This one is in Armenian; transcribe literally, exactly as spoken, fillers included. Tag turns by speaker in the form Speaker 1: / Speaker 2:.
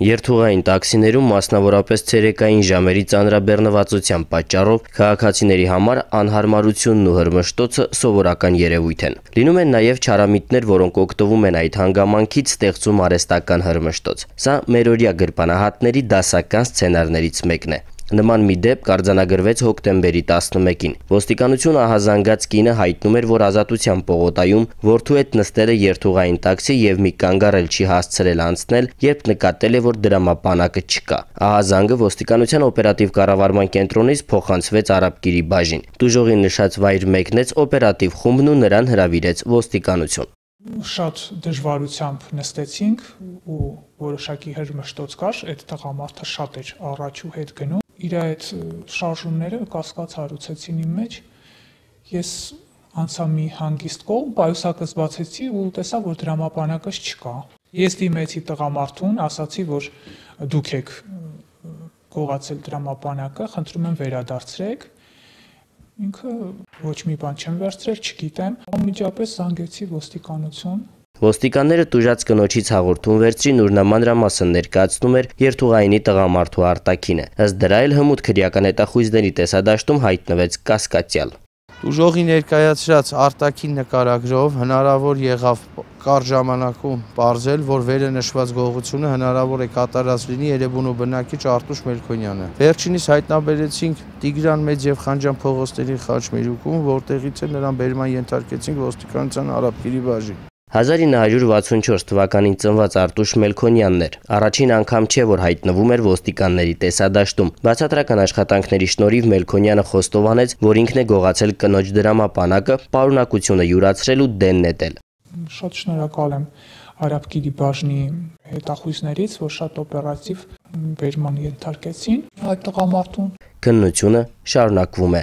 Speaker 1: Երթուղային տաքսիներում մասնավորապես ցերեկային ժամերի ծանրաբեռնվածության պատճառով քաղաքացիների համար անհարմարությունն ու հրմշտոցը սովորական երևույթ են։ Լինում են նաև չարամիտներ, որոնք օգտվում են այդ հանգամանքից, ստեղծում արհեստական հրմշտոց։ Սա մերօրյա գրպանահատների դասական սցենարներից մեկն է։ Նման մի դեպք կարձանագրվեց հոկտեմբերի տասնմեկին։ Ոստիկանություն ահազանգած կինը հայտնում էր, որ Ազատության պողոտայում որդու հետ նստել է երթուղային տաքսի եւ մի կանգառել չի հասցրել անցնել, երբ նկատել է, որ դրամապանակը չկա։ Ահազանգը ոստիկանության օպերատիվ կառավարման կենտրոնից փոխանցվեց Արաբկիրի բաժին։ Տուժողի նշած վայր մեկնեց օպերատիվ խումբն ու նրան հրավիրեց ոստիկանություն։
Speaker 2: Շատ դժվարությամբ նստեցինք ու որոշակի հրմշտոց կար, այդ տղամարդը շատ էր առաջ ու հետ գնում։ Իր այդ շարժումները կասկած հարուցեցին իմ մեջ։ Ես անցա մի հանգիստ կողմ, պայուսակս բացեցի ու տեսա, որ դրամապանակս չկա։ Ես դիմեցի տղամարդուն, ասացի, որ դուք եք գողացել դրամապանակը, խնդրում եմ վերադարձրեք։ Ինքը ոչ մի բան չեմ վերցրել, չգիտեմ, անմիջապես զանգեցի ոստիկանություն։
Speaker 1: Ոստիկանները տուժած կնոջից հաղորդում վերցրին, ուր նա մանրամասն ներկայացնում էր երթուղայինի տղամարդու արտաքինը։ Ըստ դրա էլ հմուտ քրեական հետախույզների տեսադաշտում հայտնվեց կասկածյալ։
Speaker 3: Տուժողի ներկայացրած արտաքին նկարագրով հնարավոր եղավ կարճ ժամանակում պարզել, որ վերը նշված գողությունը հնարավոր է կատարած լինի Երևանու բնակիչ Արտուշ Մելքոնյանը։ Վերջինիս հայտնաբերեցինք Տիգրան Մեծ եւ Խանջան փողոցների խաչմերուկում, որտեղից էլ նրան բերման ենթարկեցինք ոստիկանության Արաբկիրի բաժին։
Speaker 1: հազար ինը հարյուր վաթսունչորս թվականին ծնված Արտուշ Մելքոնյանն էր։ Առաջին անգամ չէ, որ հայտնվում էր ոստիկանների տեսադաշտում։ Բացատրական աշխատանքների շնորհիվ Մելքոնյանը խոստովանեց, որ ինքն է գողացել կնոջ դրամապանակը, պարունակությունը յուրացրել ու դեն նետել։
Speaker 2: Շատ շնորհակալ եմ Արաբկիրի բաժնի հետախույզներից, որ շատ օպերատիվ բերման ենթարկեցին այդ տղամարդուն։
Speaker 1: Քննությունը շարունակվում է։